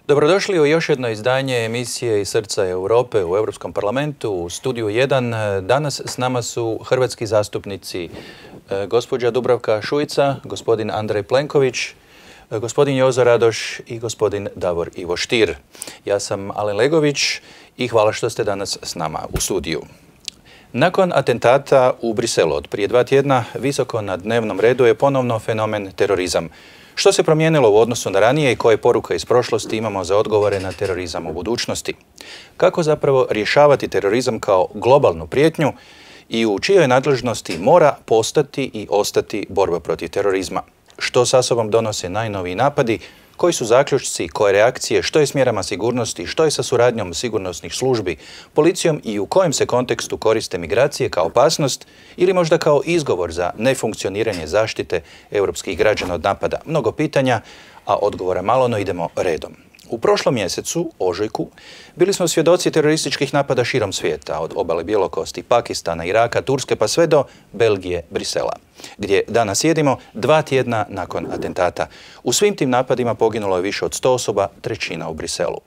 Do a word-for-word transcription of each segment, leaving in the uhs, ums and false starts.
Dobrodošli u još jedno izdanje emisije iz srca Europe u Europskom parlamentu u studiju jedan. Danas s nama su hrvatski zastupnici gospođa Dubravka Šuica, gospodin Andrej Plenković, gospodin Jozo Radoš i gospodin Davor Ivo Stier. Ja sam Alen Legović i hvala što ste danas s nama u studiju. Nakon atentata u Briselu od prije dva tjedna, visoko na dnevnom redu je ponovno fenomen terorizam. Što se promijenilo u odnosu na ranije i koje poruke iz prošlosti imamo za odgovore na terorizam u budućnosti? Kako zapravo rješavati terorizam kao globalnu prijetnju i u čijoj nadležnosti mora postati i ostati borba protiv terorizma? Što sa sobom donose najnoviji napadi? Koji su zaključci, koje reakcije, što je s mjerama sigurnosti, što je sa suradnjom sigurnosnih službi, policijom i u kojem se kontekstu koriste migracije kao opasnost ili možda kao izgovor za nefunkcioniranje zaštite europskih građana od napada? Mnogo pitanja, a odgovora malo, no idemo redom. U prošlom mjesecu, ožujku, bili smo svjedoci terorističkih napada širom svijeta, od obale Bjelokosti, Pakistana, Iraka, Turske pa sve do Belgije, Brisela, gdje danas sjedimo dva tjedna nakon atentata. U svim tim napadima poginulo je više od sto osoba, trećina u Briselu.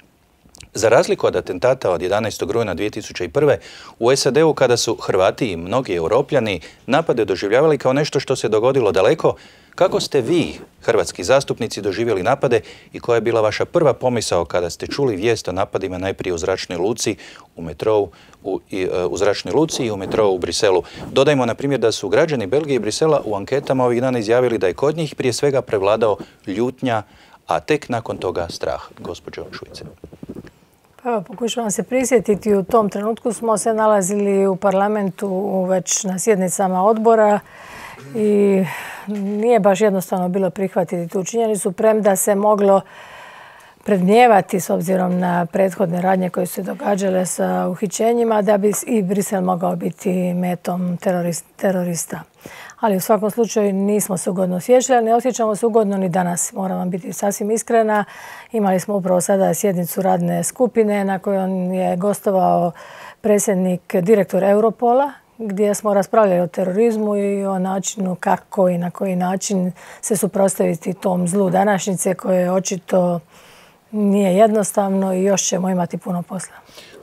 Za razliku od atentata od jedanaestog rujna dvije tisuće prve. u S A D-u, kada su Hrvati i mnogi Europljani napade doživljavali kao nešto što se dogodilo daleko, kako ste vi, hrvatski zastupnici, doživjeli napade i koja je bila vaša prva pomisao kada ste čuli vijest o napadima najprije u zračnoj luci, u metrou, u, i, u zračnoj luci i u metrou u Briselu? Dodajmo, na primjer, da su građani Belgije i Brisela u anketama ovih dana izjavili da je kod njih prije svega prevladao ljutnja, a tek nakon toga strah. Gospođo Šuice. Evo, pokušavam se prisjetiti. U tom trenutku smo se nalazili u parlamentu već na sjednicama odbora i nije baš jednostavno bilo prihvatiti tu činjenicu, premda se moglo predmnijevati s obzirom na prethodne radnje koje su se događale sa uhićenjima da bi i Brisel mogao biti metom terorista. Ali u svakom slučaju nismo se ugodno osjećali, ali ne osjećamo se ugodno ni danas. Moram vam biti sasvim iskrena. Imali smo upravo sada sjednicu radne skupine na kojoj je gostovao predsjednik, direktor Europola, gdje smo raspravljali o terorizmu i o načinu kako i na koji način se suprotstaviti tom zlu današnjice koje očito nije jednostavno i još ćemo imati puno posla.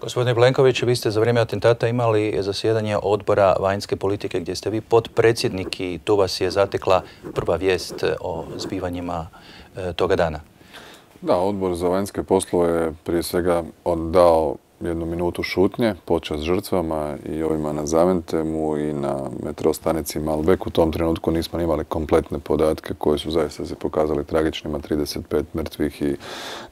Gospodine Plenković, vi ste za vrijeme atentata imali zasjedanje odbora vanjske politike gdje ste vi potpredsjednik i tu vas je zatekla prva vijest o zbivanjima toga dana. Da, odbor za vanjske poslove je prije svega dao jednu minutu šutnje, počast žrtvama i ovima na Zaventemu i na metro stanici Malbec. U tom trenutku nismo imali kompletne podatke koje su zaista se pokazali tragičnima, trideset pet mrtvih i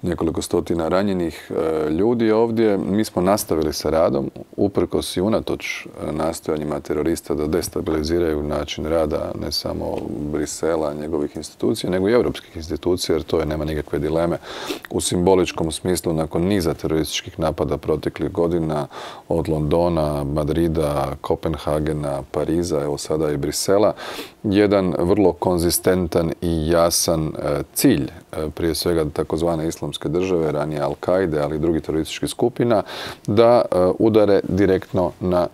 nekoliko stotina ranjenih ljudi ovdje. Mi smo nastavili sa radom, uprkos i unatoč nastojanjima terorista da destabiliziraju način rada ne samo Brisela, njegovih institucija, nego i europskih institucija, jer to je, nema nikakve dileme, u simboličkom smislu nakon niza terorističkih napada protiv proteklih godina od Londona, Madrida, Kopenhagena, Pariza, evo sada i Brisela, jedan vrlo konzistentan i jasan cilj, prije svega takozvane islamske države, ranije Al-Kaide, ali i drugih terorističkih skupina, da udare direktno na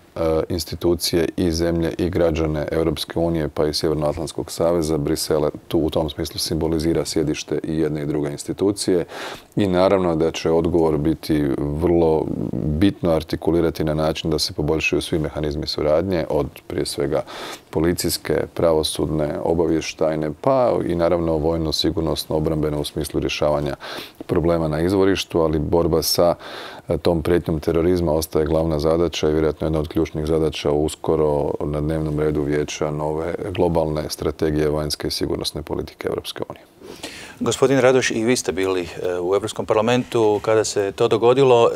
institucije i zemlje i građane Europske unije pa i Sjevernoatlantskog saveza. Brisel tu u tom smislu simbolizira sjedište i jedne i druge institucije i naravno da će odgovor biti vrlo bitno artikulirati na način da se poboljšaju svi mehanizmi suradnje, od prije svega policijske, pravosudne, obavještajne, pa i naravno vojno, sigurnosno, obrambeno u smislu rješavanja problema na izvorištu, ali borba sa tom prijetnjom terorizma ostaje glavna zadaća i vjerojatno jedna od ključnih zadaća uskoro na dnevnom redu vijeća nove globalne strategije vanjske i sigurnosne politike Europske unije. Gospodin Radoš, i vi ste bili u Europskom parlamentu kada se to dogodilo.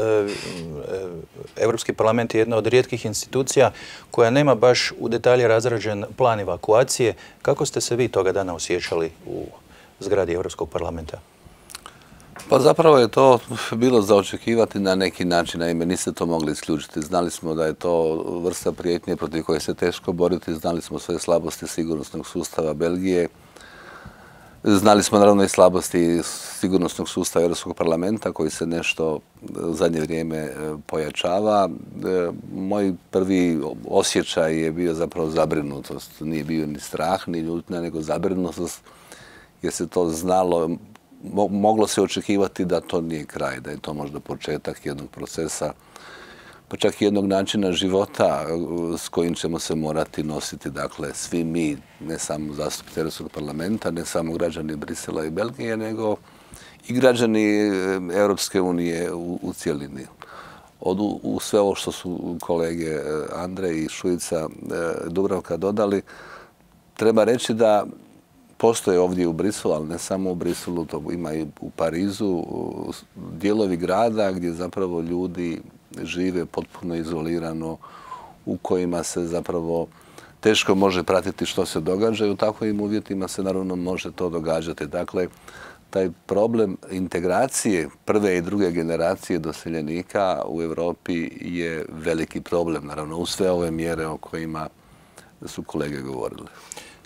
Europski parlament je jedna od rijetkih institucija koja nema baš u detalje razrađen plan evakuacije. Kako ste se vi toga dana osjećali u zgradi Europskog parlamenta? Pa zapravo je to bilo za očekivati na neki način, naime niste to mogli isključiti. Znali smo da je to vrsta prijetnje protiv koje se teško boriti, znali smo sve slabosti sigurnosnog sustava Belgije, znali smo naravno i slabosti sigurnosnog sustava Europskog parlamenta koji se nešto u zadnje vrijeme pojačava. Moj prvi osjećaj je bio zapravo zabrinutost. Nije bio ni strah, ni ljutnja, nego zabrinutost jer se to znalo moglo se očekivati da to nije kraj, da je to možda početak jednog procesa, pa čak i jednog načina života s kojim ćemo se morati nositi, dakle, svi mi, ne samo zastupnici Europskog parlamenta, ne samo građani Brisela i Belgije, nego i građani Europske unije u, u cjelini. Od, u sve ovo što su kolege Andrej i Šuica Dubravka dodali, treba reći da postoje ovdje u Briselu, ali ne samo u Briselu, to ima i u Parizu, dijelovi grada gdje zapravo ljudi žive potpuno izolirano, u kojima se zapravo teško može pratiti što se događa i u takvim uvjetima se naravno može to događati. Dakle, taj problem integracije prve i druge generacije doseljenika u Europi je veliki problem, naravno, uz sve ove mjere o kojima su kolege govorile.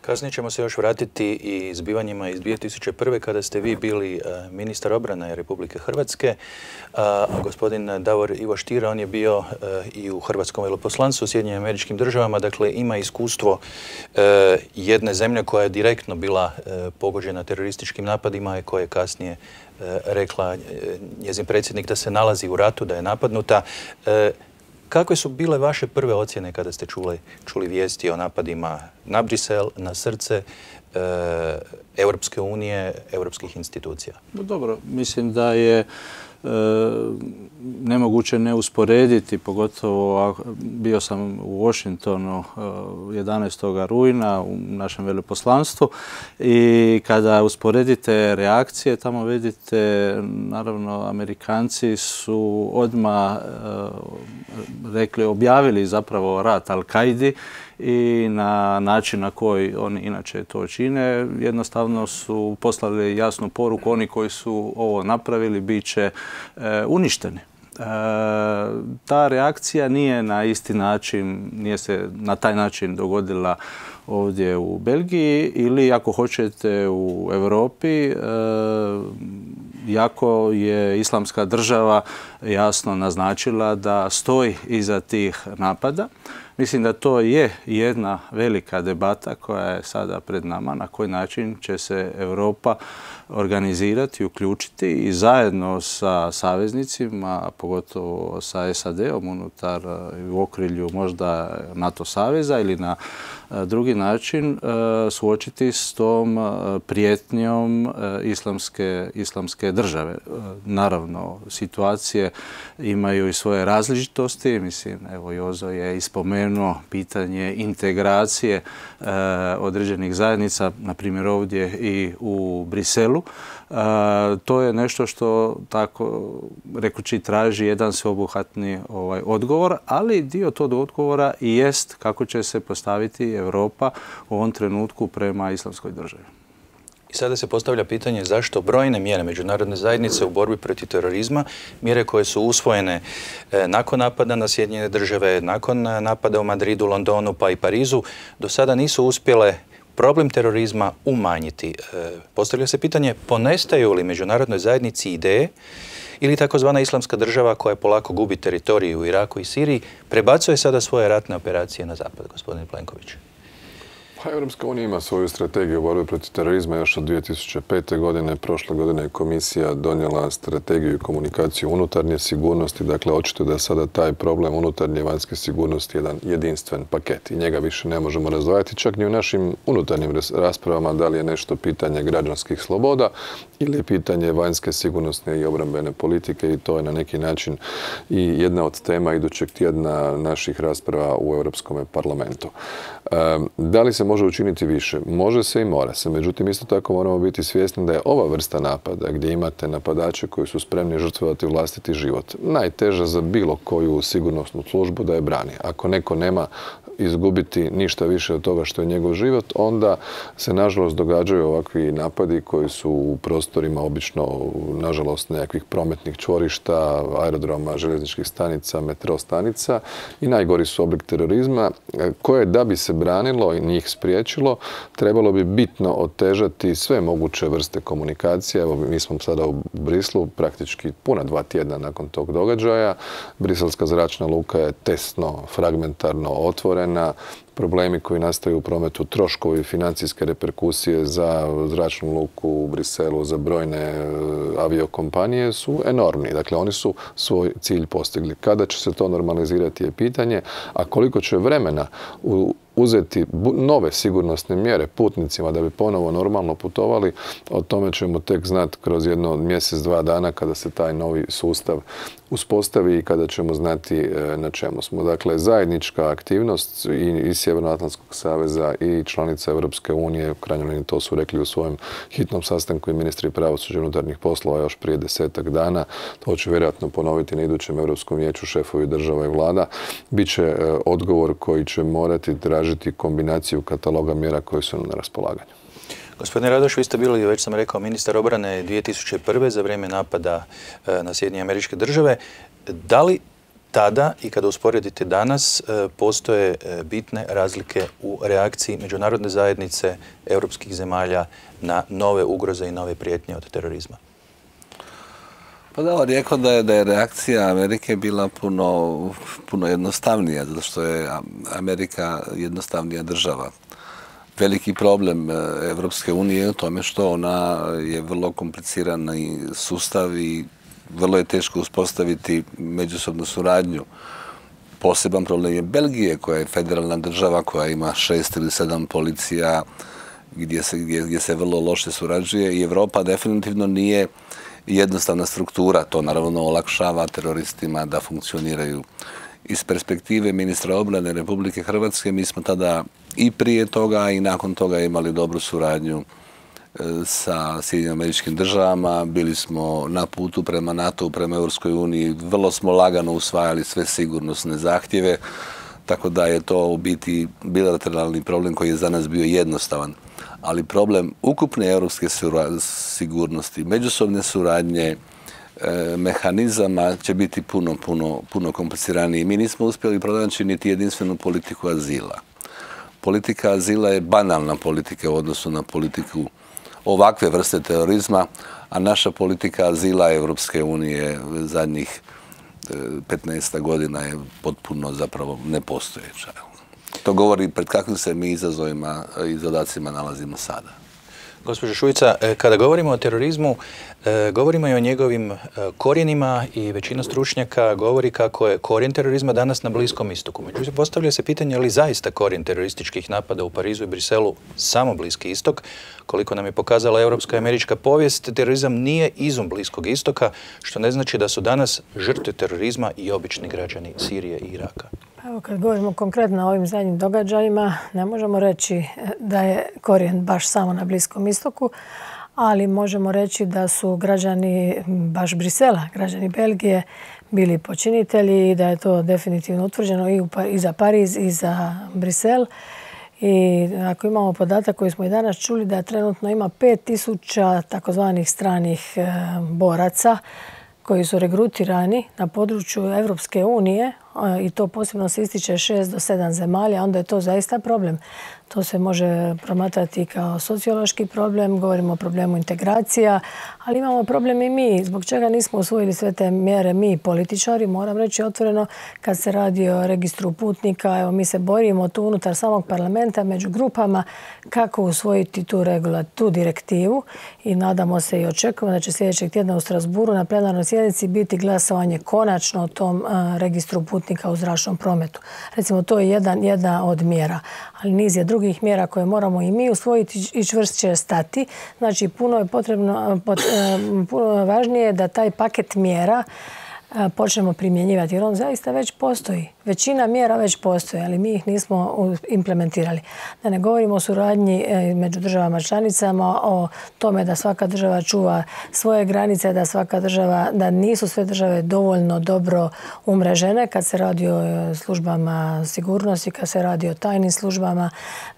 Kasnije ćemo se još vratiti i zbivanjima iz dvije tisuće prve. kada ste vi bili ministar obrane Republike Hrvatske. A gospodin Davor Ivo Stier, on je bio i u Hrvatskom veleposlanstvu u Sjedinjenim Američkim Državama. Dakle, ima iskustvo jedne zemlje koja je direktno bila pogođena terorističkim napadima i koja je kasnije rekla njezin predsjednik da se nalazi u ratu, da je napadnuta. Kakve su bile vaše prve ocjene kada ste čuli, čuli vijesti o napadima na Brisel, na srce e, Europske unije, europskih institucija? Dobro, mislim da je e, nemoguće ne usporediti, pogotovo bio sam u Washingtonu jedanaestog rujna u našem veleposlanstvu i kada usporedite reakcije, tamo vidite, naravno, Amerikanci su odmah rekli, objavili zapravo rat Al-Kaidi i na način na koji oni inače to čine, jednostavno su poslali jasnu poruku, oni koji su ovo napravili bit će e, uništeni. E, ta reakcija nije na isti način, nije se na taj način dogodila ovdje u Belgiji ili, ako hoćete, u Europi, e, jako je Islamska država jasno naznačila da stoji iza tih napada. Mislim da to je jedna velika debata koja je sada pred nama, na koji način će se Europa organizirati, uključiti i zajedno sa saveznicima, pogotovo sa S A D-om unutar u okrilju možda NATO saveza ili na drugi način suočiti s tom prijetnjom islamske, islamske države. Naravno, situacije imaju i svoje različitosti. Mislim, evo, Jozo je ispomenuo pitanje integracije e, određenih zajednica, na primjer ovdje i u Briselu. E, to je nešto što, tako rekući, traži jedan sveobuhvatni ovaj, odgovor, ali dio tog odgovora i jest kako će se postaviti Europa u ovom trenutku prema islamskoj državi. I sada se postavlja pitanje zašto brojne mjere međunarodne zajednice u borbi protiv terorizma, mjere koje su usvojene nakon napada na Sjedinjene Države, nakon napada u Madridu, Londonu pa i Parizu, do sada nisu uspjele problem terorizma umanjiti. Postavlja se pitanje, ponestaju li međunarodnoj zajednici ideje ili takozvana islamska država koja polako gubi teritoriju u Iraku i Siriji, prebacuje sada svoje ratne operacije na zapad, gospodin Plenković? Pa Europska unija ima svoju strategiju borbe protiv terorizma još od dvije tisuće pete. godine. Prošle godine je komisija donijela strategiju i komunikaciju unutarnje sigurnosti. Dakle, očito da je sada taj problem unutarnje i vanjske sigurnosti jedan jedinstven paket i njega više ne možemo razdvajati čak ni u našim unutarnjim raspravama da li je nešto pitanje građanskih sloboda ili je pitanje vanjske sigurnosne i obrambene politike i to je na neki način i jedna od tema idućeg tjedna naših rasprava u Europskom parlamentu. Da li se može učiniti više? Može se i mora se. Međutim, isto tako moramo biti svjesni da je ova vrsta napada, gdje imate napadače koji su spremni žrtvovati vlastiti život, najteža za bilo koju sigurnosnu službu da je brani. Ako neko nema izgubiti ništa više od toga što je njegov život, onda se nažalost događaju ovakvi napadi koji su u prostorima obično, nažalost, nekakvih prometnih čvorišta, aerodroma, željezničkih stanica, metro stanica i najgori su oblik terorizma koje, da bi se branilo i njih spriječilo, trebalo bi bitno otežati sve moguće vrste komunikacije. Evo, mi smo sada u Brislu, praktički puna dva tjedna nakon tog događaja. Briselska zračna luka je tesno, fragmentarno otvorena. vremena, problemi koji nastaju u prometu, troškovi, financijske reperkusije za zračnu luku u Briselu, za brojne aviokompanije su enormni. Dakle, oni su svoj cilj postigli. Kada će se to normalizirati je pitanje, a koliko će vremena u uzeti nove sigurnosne mjere putnicima da bi ponovo normalno putovali, o tome ćemo tek znati kroz jedno mjesec, dva dana kada se taj novi sustav uspostavi i kada ćemo znati na čemu smo. Dakle, zajednička aktivnost i, i Sjevernoatlantskog saveza i članica Europske unije, u krajnjoj liniji to su rekli u svojem hitnom sastanku i ministri pravosuđa i unutarnjih poslova još prije desetak dana, to će vjerojatno ponoviti na idućem Europskom vijeću šefovi država i vlada, bit će odgovor koji će morati tražiti kombinaciju kataloga mjera koje su nam na raspolaganju. Gospodine Radoš, vi ste bili, već sam rekao, ministar obrane dvije tisuće prve. za vrijeme napada na Sjedinjene Američke Države. Da li tada i kada usporedite danas postoje bitne razlike u reakciji međunarodne zajednice europskih zemalja na nove ugroze i nove prijetnje od terorizma? Pa da, on rekao da je, da je reakcija Amerike bila puno, puno jednostavnija, zato što je Amerika jednostavnija država. Veliki problem Evropske unije je u tome što ona je vrlo komplicirani sustav i vrlo je teško uspostaviti međusobnu suradnju. Poseban problem je Belgije, koja je federalna država, koja ima šest ili sedam policija, gdje se, gdje, gdje se vrlo loše surađuje i Evropa definitivno nije jednostavna struktura. To naravno olakšava teroristima da funkcioniraju. Iz perspektive ministra obrane Republike Hrvatske mi smo tada i prije toga i nakon toga imali dobru suradnju sa Sjedinjenim Američkim Državama. Bili smo na putu prema NATO, prema Europskoj uniji. Vrlo smo lagano usvajali sve sigurnosne zahtjeve, tako da je to u biti bilateralni problem koji je za nas bio jednostavan. Ali problem ukupne europske sigurnosti, međusobne suradnje, mehanizama će biti puno, puno, puno kompliciraniji. Mi nismo uspjeli pronaći niti jedinstvenu politiku azila. Politika azila je banalna politika u odnosu na politiku ovakve vrste terorizma, a naša politika azila Evropske unije zadnjih petnaest godina je potpuno zapravo nepostojeća. To govori pred kakvim se mi izazovima i zadacima nalazimo sada. Gospođo Šuica, kada govorimo o terorizmu, govorimo i o njegovim korijenima i većina stručnjaka govori kako je korijen terorizma danas na Bliskom istoku. Međutim, postavlja se pitanje je li zaista korijen terorističkih napada u Parizu i Briselu samo Bliski istok. Koliko nam je pokazala europska i američka povijest, terorizam nije izum Bliskog istoka, što ne znači da su danas žrtve terorizma i obični građani Sirije i Iraka. Evo, kad govorimo konkretno o ovim zadnjim događajima, ne možemo reći da je korijen baš samo na Bliskom istoku, ali možemo reći da su građani baš Brisela, građani Belgije, bili počinitelji i da je to definitivno utvrđeno i, i za Pariz i za Brisel. I ako imamo podatak koji smo i danas čuli da trenutno ima pet tisuća takozvanih stranih boraca koji su regrutirani na području Evropske unije i to posebno se ističe šest do sedam zemalja, onda je to zaista problem. To se može promatrati kao sociološki problem, govorimo o problemu integracija, ali imamo problem i mi. Zbog čega nismo usvojili sve te mjere mi, političari, moram reći otvoreno, kad se radi o registru putnika, evo mi se borimo tu unutar samog parlamenta među grupama kako usvojiti tu, regula, tu direktivu i nadamo se i očekujemo da će sljedećeg tjedna u Strasburu na plenarnoj sjednici biti glasovanje konačno o tom a, registru putnika u zračnom prometu. Recimo, to je jedan, jedna od mjera, ali niz je drugih mjera koje moramo i mi usvojiti i čvršće stati. Znači, puno je potrebno, pot, puno važnije da taj paket mjera počnemo primjenjivati, jer on zaista već postoji. Većina mjera već postoji, ali mi ih nismo implementirali. Da ne govorimo o suradnji među državama članicama, o tome da svaka država čuva svoje granice, da svaka država, da nisu sve države dovoljno dobro umrežene kad se radi o službama sigurnosti, kad se radi o tajnim službama.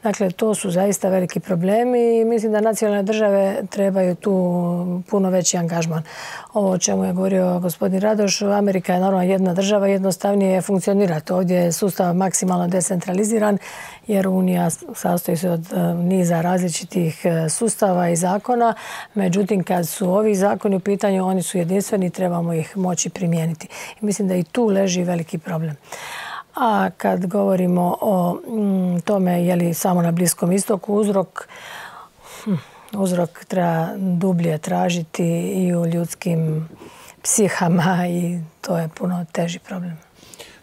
Dakle, to su zaista veliki problemi i mislim da nacionalne države trebaju tu puno veći angažman. Ovo o čemu je govorio gospodin Radoš, Amerika je naravno jedna država, jednostavnije funkcionira. Ovdje je sustav maksimalno decentraliziran jer Unija sastoji se od niza različitih sustava i zakona. Međutim, kad su ovi zakoni u pitanju, oni su jedinstveni i trebamo ih moći primijeniti. I mislim da i tu leži veliki problem. A kad govorimo o tome je li samo na Bliskom istoku uzrok, uzrok treba dublje tražiti i u ljudskim psihama i to je puno teži problem.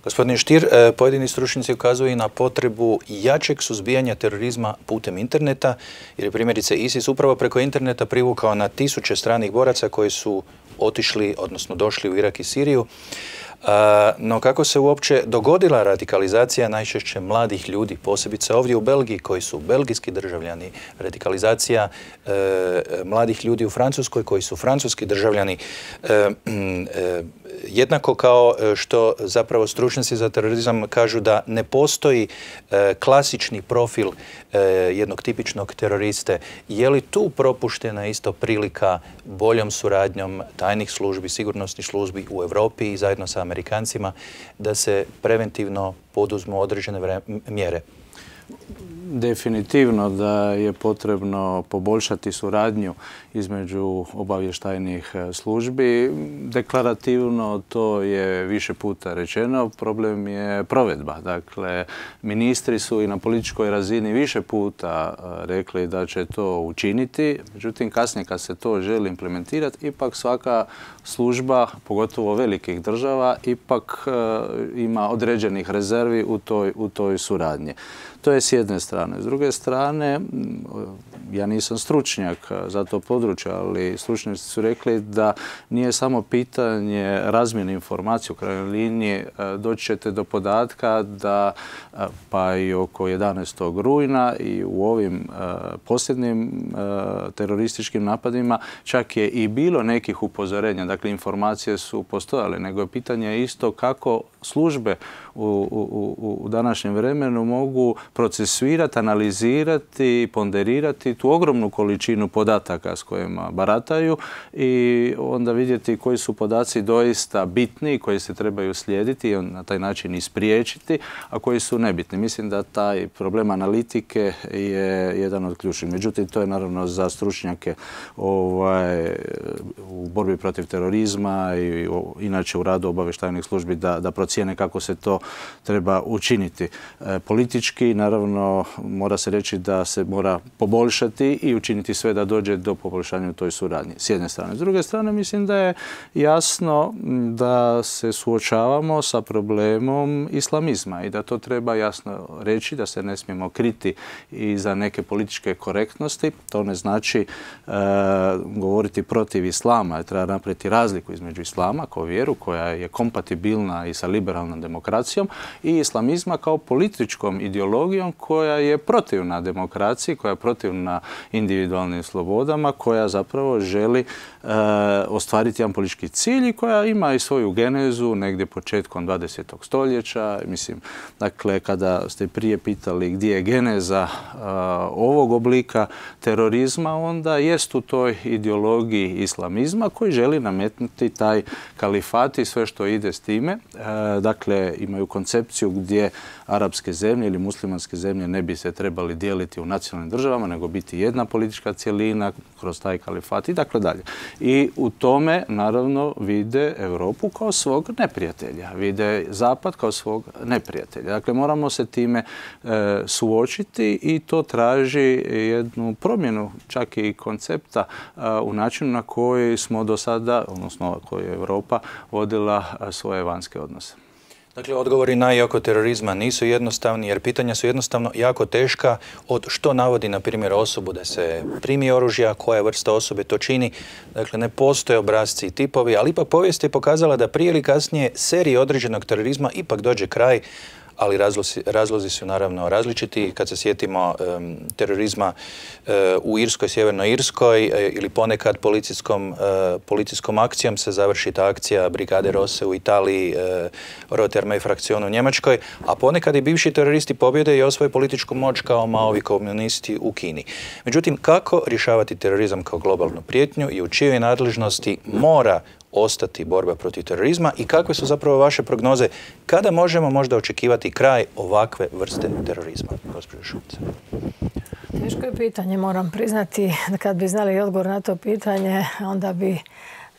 Gospodine Stier, pojedini stručnjaci ukazuju i na potrebu jačeg suzbijanja terorizma putem interneta, jer je primjerice ISIS upravo preko interneta privukao na tisuće stranih boraca koji su otišli, odnosno došli u Irak i Siriju. No kako se uopće dogodila radikalizacija najčešće mladih ljudi, posebice ovdje u Belgiji koji su belgijski državljani, radikalizacija e, mladih ljudi u Francuskoj koji su francuski državljani, e, e, jednako kao što zapravo stručnjaci za terorizam kažu da ne postoji e, klasični profil e, jednog tipičnog teroriste. Je li tu propuštena isto prilika boljom suradnjom tajnih službi, sigurnosnih službi u Europi i zajedno sa Amerikancima da se preventivno poduzmu određene mjere? Definitivno da je potrebno poboljšati suradnju između obavještajnih službi. Deklarativno to je više puta rečeno, problem je provedba. Dakle, ministri su i na političkoj razini više puta rekli da će to učiniti, međutim kasnije kad se to želi implementirati, ipak svaka služba, pogotovo velikih država, ipak ima određenih rezervi u toj, u toj suradnji. To je s jedne strane. S druge strane, ja nisam stručnjak za to područje, ali stručnjaci su rekli da nije samo pitanje razmjene informacije u krajnjoj liniji. Doći ćete do podatka da pa i oko jedanaestog rujna i u ovim posljednjim terorističkim napadima čak je i bilo nekih upozorenja. Dakle, informacije su postojale, nego je pitanje isto kako službe u, u, u današnjem vremenu mogu procesuirati, analizirati, ponderirati tu ogromnu količinu podataka s kojima barataju i onda vidjeti koji su podaci doista bitni, koji se trebaju slijediti i na taj način ispriječiti, a koji su nebitni. Mislim da taj problem analitike je jedan od ključnih. Međutim, to je naravno za stručnjake ovaj, u borbi protiv terorizma i inače u radu obavještajnih službi da, da procijene kako se to treba učiniti. E, politički, naravno, mora se reći da se mora poboljšati i učiniti sve da dođe do poboljšanja u toj suradnji. S jedne strane. S druge strane, mislim da je jasno da se suočavamo sa problemom islamizma i da to treba jasno reći, da se ne smijemo kriti i za neke političke korektnosti. To ne znači e, govoriti protiv islama. Treba napraviti razliku između islama kao vjeru koja je kompatibilna i sa liberalnom demokracijom i islamizma kao političkom ideologijom koja je protivna demokraciji, koja je protivna individualnim slobodama, koja zapravo želi e, ostvariti jedan politički cilj i koja ima i svoju genezu negdje početkom dvadesetog stoljeća. Mislim, dakle, kada ste prije pitali gdje je geneza e, ovog oblika terorizma, onda jest u toj ideologiji islamizma koji želi nametnuti taj kalifat i sve što ide s time. E, dakle, imaju koncepciju gdje arapske zemlje ili muslimanske zemlje ne bi se trebali dijeliti u nacionalnim državama, nego biti jedna politička cjelina kroz taj kalifat i dakle dalje. I u tome, naravno, vide Europu kao svog neprijatelja. Vide Zapad kao svog neprijatelja. Dakle, moramo se time e, suočiti i to traži jednu promjenu čak i koncepta e, u načinu na koji smo do sada, odnosno koji je Europa vodila a, svoje vanjske odnose. Dakle, odgovori na i oko terorizma nisu jednostavni jer pitanja su jednostavno jako teška od što navodi, na primjer, osobu da se primi oružja, koja vrsta osobe to čini. Dakle, ne postoje obrasci i tipovi, ali ipak povijest je pokazala da prije ili kasnije seriji određenog terorizma ipak dođe kraj, ali razlozi, razlozi su naravno različiti. Kad se sjetimo um, terorizma uh, u Irskoj, Sjevernoj Irskoj uh, ili ponekad policijskom, uh, policijskom akcijom se završi ta akcija Brigade Rosse u Italiji, uh, Rote Armee Fraktion u Njemačkoj, a ponekad i bivši teroristi pobjede i osvoje političku moć kao Maovi komunisti u Kini. Međutim, kako rješavati terorizam kao globalnu prijetnju i u čijoj nadležnosti mora ostati borba protiv terorizma i kakve su zapravo vaše prognoze kada možemo možda očekivati kraj ovakve vrste terorizma? Gospođo Šuica. Teško je pitanje, moram priznati. Kad bi znali odgovor na to pitanje, onda bi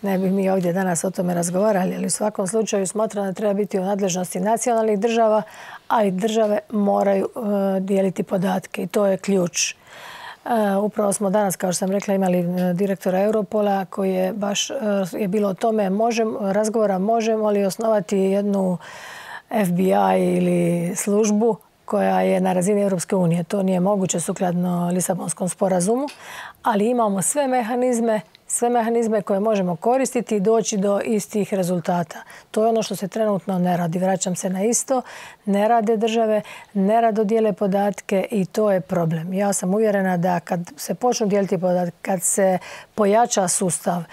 ne bi mi ovdje danas o tome razgovarali, ali u svakom slučaju smatram da treba biti u nadležnosti nacionalnih država, ali države moraju dijeliti podatke i to je ključ. Upravo smo danas, kao što sam rekla, imali direktora Europola koji je baš je bilo o tome razgovora možemo li osnovati jednu F B I ili službu koja je na razini Europske unije. To nije moguće sukladno Lisabonskom sporazumu, ali imamo sve mehanizme, sve mehanizme koje možemo koristiti i doći do istih rezultata. To je ono što se trenutno ne radi. Vraćam se na isto. Ne rade države, ne rado dijele podatke i to je problem. Ja sam uvjerena da kad se počnu dijeliti podatke, kad se pojača sustav,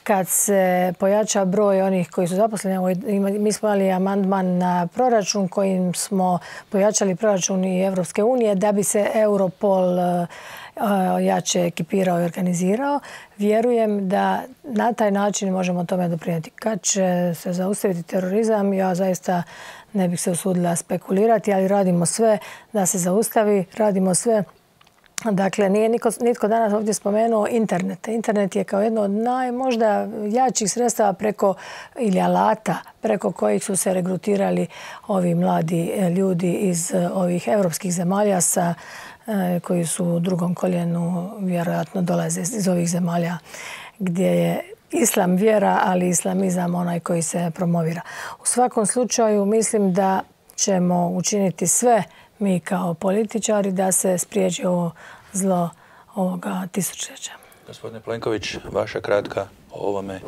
kad se pojača broj onih koji su zaposleni, mi smo imali amandman na proračun kojim smo pojačali proračun i Europske unije da bi se Europol jače ekipirao i organizirao. Vjerujem da na taj način možemo tome doprinijeti. Kad će se zaustaviti terorizam, ja zaista ne bih se usudila spekulirati, ali radimo sve da se zaustavi, radimo sve. Dakle, nije niko, nitko danas ovdje spomenuo internet. Internet je kao jedno od najmožda jačih sredstava preko, ili alata preko kojih su se regrutirali ovi mladi ljudi iz ovih europskih zemalja sa, koji su u drugom koljenu vjerojatno dolaze iz ovih zemalja gdje je islam vjera, ali islamizam onaj koji se promovira. U svakom slučaju mislim da ćemo učiniti sve mi kao političari da se spriječi ovo zlo ovoga tisućljeća. Gospodine Plenković, vaša kratka o ovome.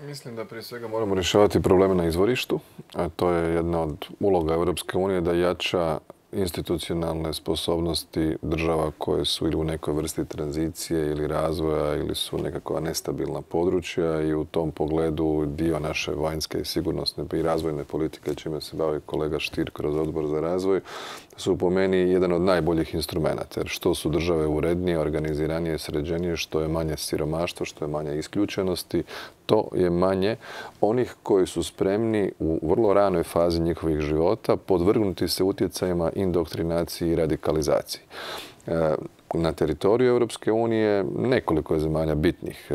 Mislim da prije svega moramo rješavati probleme na izvorištu, a to je jedna od uloga Europske unije da jača institucionalne sposobnosti država koje su ili u nekoj vrsti tranzicije ili razvoja ili su nekakva nestabilna područja i u tom pogledu dio naše vanjske i sigurnosne i razvojne politike, čime se bavi kolega Stier kroz Odbor za razvoj, su po meni jedan od najboljih instrumenata. Jer što su države urednije, organiziranije, sređenije, što je manje siromaštva, što je manje isključenosti, to je manje onih koji su spremni u vrlo ranoj fazi njihovih života podvrgnuti se utjecajima indoktrinaciji i radikalizaciji. Na teritoriju Europske unije nekoliko je zemalja bitnih.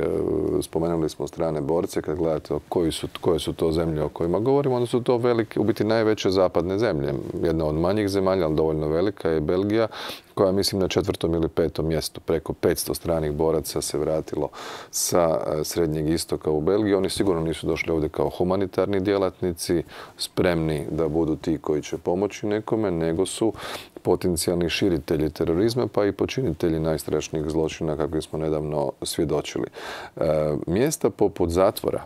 Spomenuli smo strane borce, kad gledate koji su, koje su to zemlje o kojima govorimo, onda su to velike, u biti najveće zapadne zemlje. Jedna od manjih zemalja, ali dovoljno velika, je Belgija, koja mislim na četvrtom ili petom mjestu. Preko petsto stranih boraca se vratilo sa Srednjeg istoka u Belgiju. Oni sigurno nisu došli ovdje kao humanitarni djelatnici, spremni da budu ti koji će pomoći nekome, nego su potencijalni širitelji terorizma, pa i počinitelji najstrašnijih zločina kakvim smo nedavno svjedočili. E, mjesta poput zatvora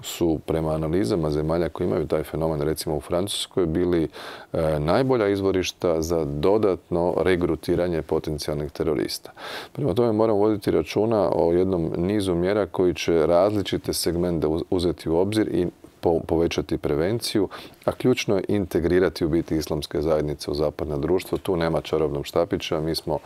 su prema analizama zemalja koji imaju taj fenomen, recimo u Francuskoj, bili e, najbolja izvorišta za dodatno regrutiranje potencijalnih terorista. Prema tome moramo voditi računa o jednom nizu mjera koji će različite segmente uzeti u obzir i povećati prevenciju, a ključno je integrirati u biti islamske zajednice u zapadno društvo. Tu nema čarobnog štapića. Mi smo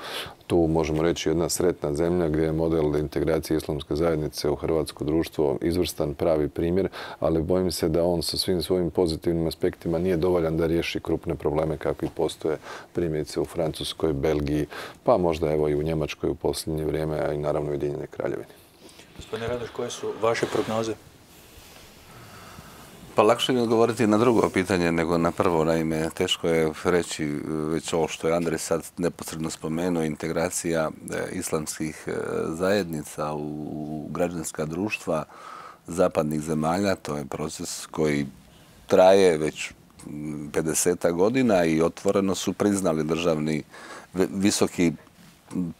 tu, možemo reći, jedna sretna zemlja gdje je model integracije islamske zajednice u hrvatsko društvo izvrstan, pravi primjer, ali bojim se da on sa svim svojim pozitivnim aspektima nije dovoljan da riješi krupne probleme kakvi postoje primjerice u Francuskoj, Belgiji, pa možda evo i u Njemačkoj u posljednje vrijeme, a i naravno u Ujedinjenoj Kraljevini. Gospodine Radoš, koje su vaše prognoze? Pa lakše mi odgovoriti na drugo pitanje nego na prvo. Naime, teško je reći već ovo što je Andrej sad neposredno spomenuo, integracija islamskih zajednica u građanska društva zapadnih zemalja. To je proces koji traje već pedeset godina i otvoreno su priznali državni, visoki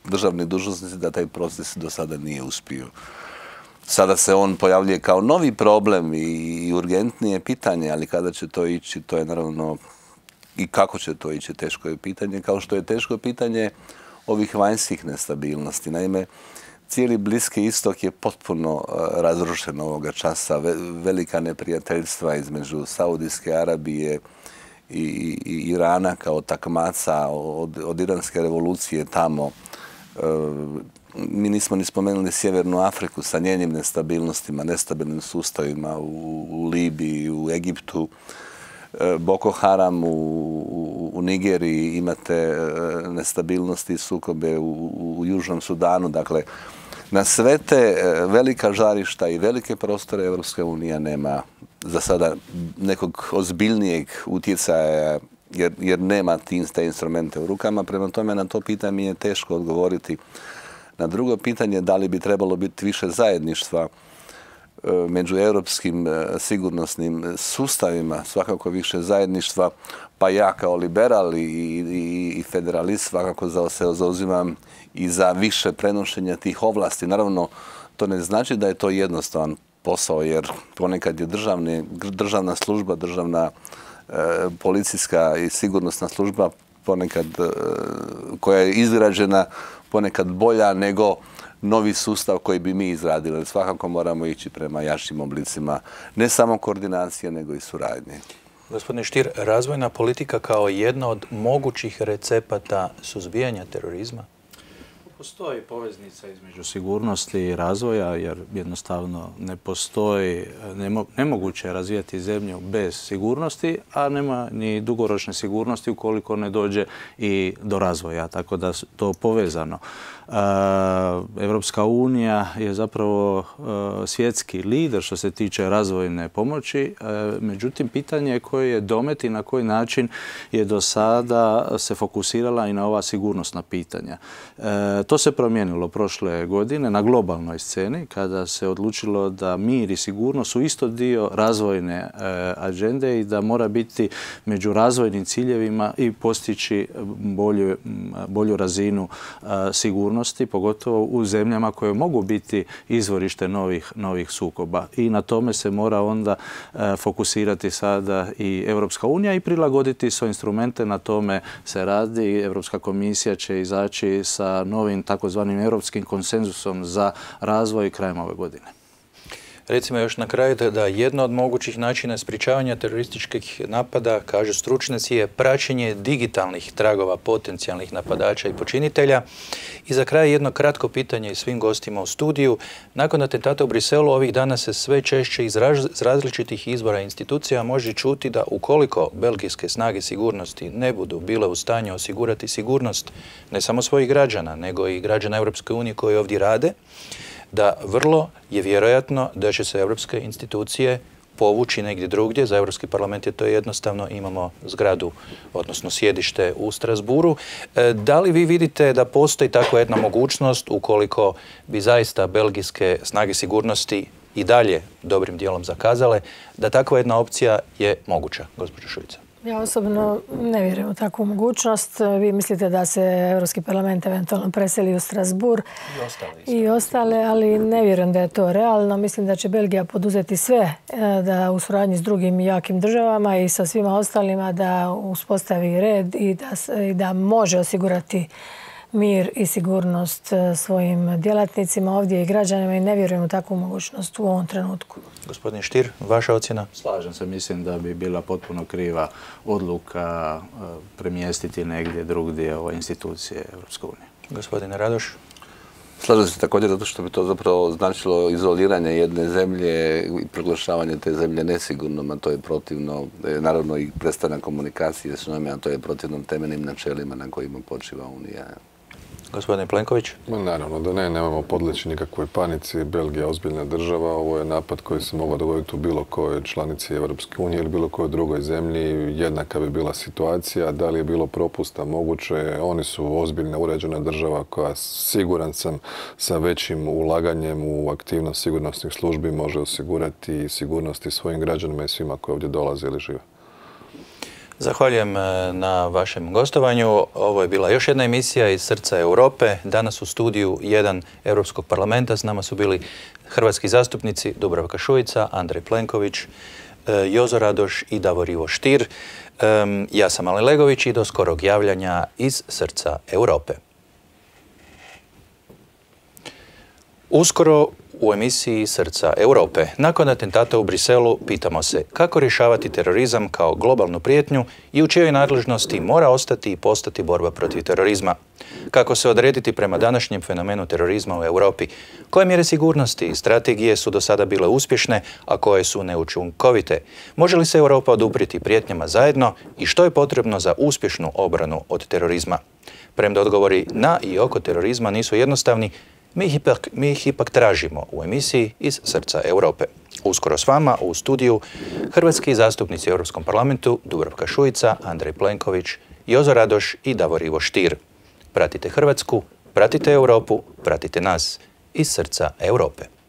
državni dužnosnici da taj proces do sada nije uspio. Sada se on pojavljuje kao novi problem i urgentnije pitanje, ali kada će to ići, to je naravno i kako će to ići, teško je pitanje, kao što je teško pitanje ovih vanjskih nestabilnosti. Naime, cijeli Bliski istok je potpuno razrušen ovoga časa. Velika neprijateljstva između Saudijske Arabije i, i Irana kao takmaca od, od iranske revolucije tamo. Mi nismo ni spomenuli Sjevernu Afriku sa njenim nestabilnostima, nestabilnim sustavima u, u Libiji, u Egiptu, Boko Haram u, u, u Nigeriji, imate nestabilnosti i sukobe u, u Južnom Sudanu. Dakle, Na sve te velika žarišta i velike prostore Europska unija nema za sada nekog ozbiljnijeg utjecaja jer, jer nema te instrumente u rukama. Prema tome na to pitanje mi je teško odgovoriti. Na drugo pitanje da li bi trebalo biti više zajedništva među europskim sigurnosnim sustavima, svakako više zajedništva, pa ja kao liberal i, i, i federalist svakako se zauzimam i za više prenošenja tih ovlasti. Naravno, to ne znači da je to jednostavan posao, jer ponekad je državne, državna služba, državna e, policijska i sigurnosna služba ponekad e, koja je izgrađena ponekad bolja nego novi sustav koji bi mi izradili. Svakako moramo ići prema jačim oblicima ne samo koordinacije, nego i suradnje. Gospodine Stier, razvojna politika kao jedna od mogućih recepata suzbijanja terorizma? Postoji poveznica između sigurnosti i razvoja, jer jednostavno ne postoji, nemoguće je razvijati zemlju bez sigurnosti, a nema ni dugoročne sigurnosti ukoliko ne dođe i do razvoja, tako da to povezano. Evropska unija je zapravo svjetski lider što se tiče razvojne pomoći, međutim pitanje je koji je domet i na koji način je do sada se fokusirala i na ova sigurnosna pitanja. To se promijenilo prošle godine na globalnoj sceni kada se odlučilo da mir i sigurnost su isto dio razvojne agende i da mora biti među razvojnim ciljevima i postići bolju, bolju razinu sigurnosti, pogotovo u zemljama koje mogu biti izvorište novih, novih sukoba. I na tome se mora onda fokusirati sada i Europska unija i prilagoditi svoje instrumente. Na tome se radi. Europska komisija će izaći sa novim takozvanim europskim konsenzusom za razvoj krajem ove godine. Recimo još na kraju da jedno od mogućih načina sprječavanja terorističkih napada, kaže stručnjaci, je praćenje digitalnih tragova potencijalnih napadača i počinitelja. I za kraj jedno kratko pitanje svim gostima u studiju. Nakon atentata u Briselu ovih dana se sve češće iz različitih izvora i institucija može čuti da ukoliko belgijske snage sigurnosti ne budu bile u stanju osigurati sigurnost ne samo svojih građana, nego i građana Europske unije koji ovdje rade, da vrlo je vjerojatno da će se europske institucije povući negdje drugdje. Za Europski parlament je to jednostavno, imamo zgradu, odnosno sjedište u Strasburu. Da li vi vidite da postoji takva jedna mogućnost ukoliko bi zaista belgijske snage sigurnosti i dalje dobrim dijelom zakazale, da takva jedna opcija je moguća, gospođo Šuica? Ja osobno ne vjerujem u takvu mogućnost. Vi mislite da se Europski parlament eventualno preseli u Strasbourg i ostale, i ostale, ali ne vjerujem da je to realno. Mislim da će Belgija poduzeti sve da u suradnji s drugim jakim državama i sa svima ostalima da uspostavi red i da, i da može osigurati mir i sigurnost svojim djelatnicima ovdje i građanima i ne vjerujem u takvu mogućnost u ovom trenutku. Gospodin Stier, vaša ocjena? Slažem se, mislim da bi bila potpuno kriva odluka premjestiti negdje drugdje ove institucije Europske unije. Gospodine Radoš? Slažem se također zato što bi to zapravo značilo izoliranje jedne zemlje i proglašavanje te zemlje nesigurnom, a to je protivno, naravno i prestanak komunikacije s njome, a to je protivno temeljnim načelima na kojima počiva Unija. Gospodin Plenković? Naravno da ne, nemamo podleći nikakvoj panici. Belgija je ozbiljna država. Ovo je napad koji se mogao dogoditi u bilo kojoj članici Europske unije ili bilo kojoj drugoj zemlji. Jednaka bi bila situacija. Da li je bilo propusta? Moguće. Oni su ozbiljna uređena država koja, siguran sam, sa većim ulaganjem u aktivnost sigurnosnih službi može osigurati sigurnosti svojim građanima i svima koji ovdje dolaze ili žive. Zahvaljujem na vašem gostovanju. Ovo je bila još jedna emisija iz srca Europe. Danas u studiju jedan Europskog parlamenta s nama su bili hrvatski zastupnici Dubravka Šuica, Andrej Plenković, Jozo Radoš i Davor Ivo Stier. Ja sam Alen Legović i do skorog javljanja iz srca Europe. Uskoro u emisiji Srca Europe. Nakon atentata u Briselu pitamo se kako rješavati terorizam kao globalnu prijetnju i u čijoj nadležnosti mora ostati i postati borba protiv terorizma. Kako se odrediti prema današnjem fenomenu terorizma u Europi? Koje mjere sigurnosti i strategije su do sada bile uspješne, a koje su neučinkovite? Može li se Europa oduprijeti prijetnjama zajedno i što je potrebno za uspješnu obranu od terorizma? Premda odgovori na i oko terorizma nisu jednostavni, Mi ih, ipak, mi ih ipak tražimo u emisiji Iz srca Europe. Uskoro s vama u studiju hrvatski zastupnici u Europskom parlamentu Dubravka Šuica, Andrej Plenković, Jozo Radoš i Davor Ivo Stier. Pratite Hrvatsku, pratite Europu, pratite nas iz srca Europe.